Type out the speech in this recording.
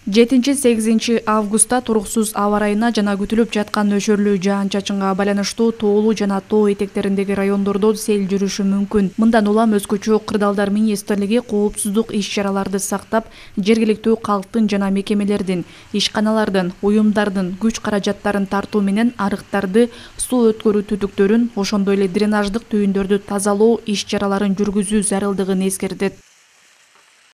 7-8 августта туруксуз аба ырайына жана күтүлүп жаткан нөшөрлүү жаан-чачынга байланыштуу тоолуу жана тоо этектериндеги райондордо сел жүрүшү мүмкүн. Мындан улам өзгөчө кырдаалдар министрлиги коопсуздук иш-чараларды сактап, жергиликтүү калктын жана мекемелердин, ишканалардын, уюмдардын күч каражаттарын тартуу менен арыктарды, суу өткөрүү түтүктөрүн, ошондой эле дренаждык түйүндөрдү тазалоо иш-чараларын жүргүзүү зарылдыгын эскертет.